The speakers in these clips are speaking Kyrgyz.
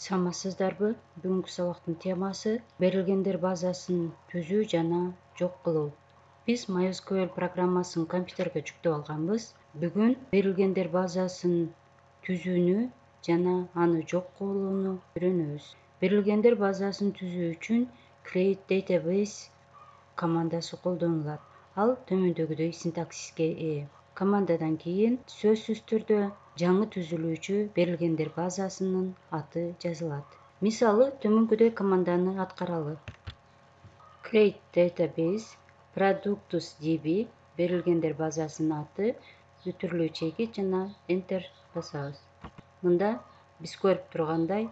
Саламатсыздарбы? Бүгүнкү сабактын темасы берилгендер базасын түзүү жана жок кылуу. Биз MySQL программасын компьютерге жүктөп алганбыз. Бүгүн берилгендер базасын түзүүнү жана аны жок кылууну үйрөнөбүз. Берилгендер базасын түзүү үчүн create database командасы колдонулат. Ал төмөндөгүдөй синтаксиске ээ. Командадан кийин сөзсүз түрдө жаңы түзүлүүчү берилгендер базасынын аты жазылат. Мисалы, төмөнкүдөй команданы аткаралы. Create database products db берилгендер базасынын аты, бүтүрүлүү чегит жана Enter басабыз. Мында биз көрүп тургандай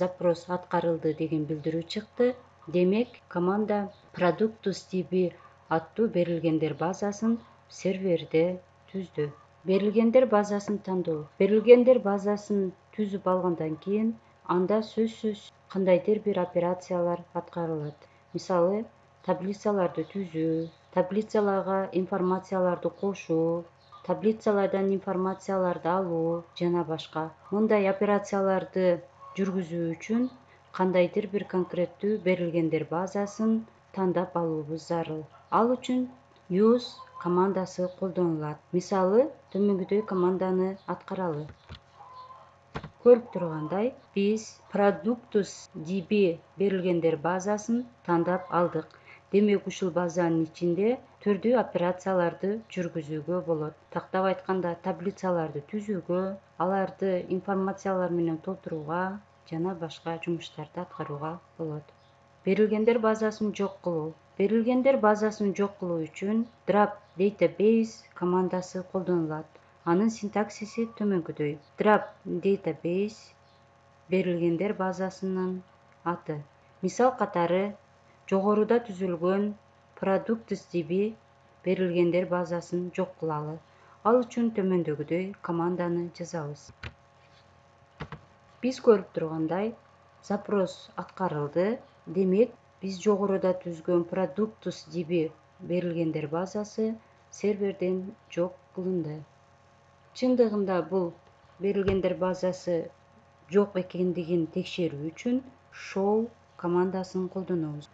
запрос аткарылды деген билдирүү чыкты. Демек, команда products db аттуу берилгендер базасын серверде түздү. Берилгендер базасын тандоо. Берилгендер базасын түзүп алгандан кийин анда сөзсүз кандайдыр бир операциялар аткарылат. Мисалы, таблицаларды түзүү, таблицаларга информацияларды кошуу, таблицалардан информацияларды алуу жана башка. Мындай операцияларды жүргүзүү үчүн кандайдыр бир конкреттүү берилгендер базасын тандап алуубуз зарыл. Ал үчүн use командасы колдонулат. Мисалы, төмөнкүдөй команданы аткаралы. Көрүп тургандай, биз products db берилгендер базасын тандап алдык. Демек, ушул базанын ичинде түрдүү операцияларды жүргүзүүгө болот. Тактап айтканда, таблицаларды түзүүгө, аларды информациялар менен толтурууга жана башка жумуштарды аткарууга болот. Берилгендер базасын жок кылуу. Берилгендер базасын жок кылуу үчүн drop database командасы колдонулат. Анын синтаксиси төмөнкүдөй. Drop database берилгендер базасынын аты. Мисал катары, жогоруда түзүлгөн products db берилгендер базасын жок кылалы. Ал үчүн төмөндөгүдөй команданы жазабыз. Биз көрүп тургандай, запрос аткарылды. Демек, биз жогоруда түзгөн products db берилгендер базасы серверден жок кылынды. Чындыгында бул берилгендер базасы жок экендигин текшерүү үчүн show командасын колдонобуз.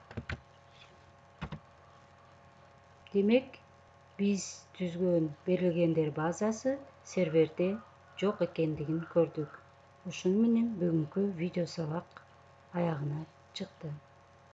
Демек, биз түзгөн берилгендер базасы серверде жок экендигин көрдүк. Ушуну менен бүгүнкү видео сабак аягына чыкты.